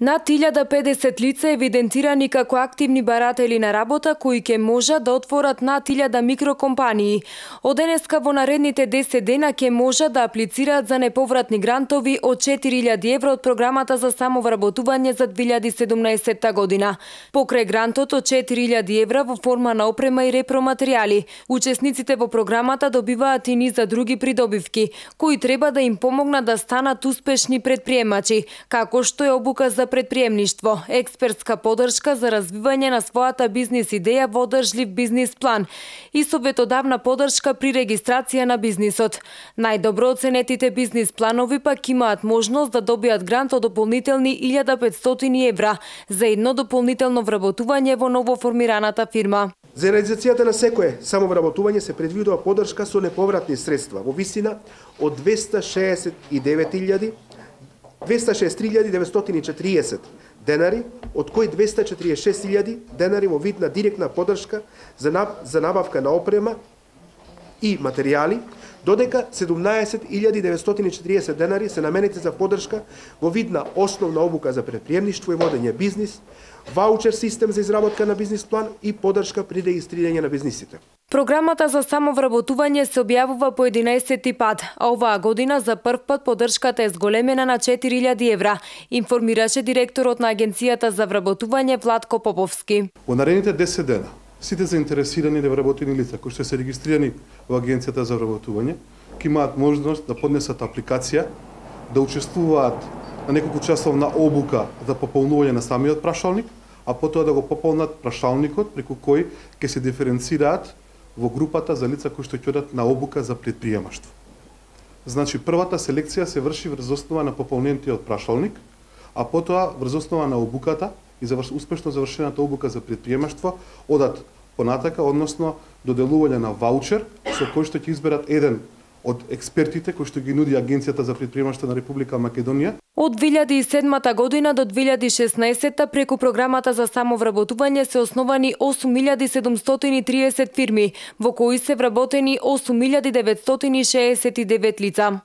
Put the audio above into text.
Над 1050 лица евидентирани како активни баратели на работа кои ќе можат да отворат над 1000 микрокомпании. Од денеска во наредните 10 дена ќе можат да аплицираат за неповратни грантови од 4000 евро од програмата за самовработување за 2017 година. Покрај грантот од 4000 евро во форма на опрема и репроматеријали, учесниците во програмата добиваат и низ за други придобивки, кои треба да им помогнат да станат успешни предприемачи, како што е обука за предприемништво, експертска поддршка за развивање на својата бизнис идеја во одржлив бизнис план и советодавна поддршка при регистрација на бизнисот. Најдобро оценетите бизнис планови пак имаат можност да добијат грант од дополнителни 1500 евра за едно дополнително вработување во новоформираната фирма. За реализацијата на секое самовработување се предвидува поддршка со неповратни средства во висина од 263.940 денари, од кои 246.000 денари во вид на директна поддршка за набавка на опрема и материјали, додека 17.940 денари се наменети за поддршка во вид на основна обука за предприемништво и водење бизнис, ваучер систем за изработка на бизнис план и поддршка при регистрирање на бизнисите. Програмата за самовработување се објавува по 11 пат, а оваа година за прв пат поддршката е зголемена на 4000 евра, информираше директорот на Агенцијата за вработување Владко Поповски. Во наредните 10 дена сите заинтересирани невработени лица кои што се регистрирани во Агенцијата за вработување ќе имаат можност да поднесат апликација, да учествуваат на неколку часовна обука за пополнување на самиот прашалник, а потоа да го пополнат прашалникот преку кој ќе се диференцираат во групата за лица кои што ќе одат на обука за предприемаштво. Значи, првата селекција се врши врз основа на пополнетиот прашалник, а потоа врз основа на обуката и успешно завршената обука за предприемаштво одат понатака, односно доделување на ваучер со кој што ќе изберат еден од експертите кои што ги нуди Агенцијата за предприемаштво на Република Македонија. Од 2007 година до 2016 преку програмата за самовработување се основани 8730 фирми, во кои се вработени 8969 лица.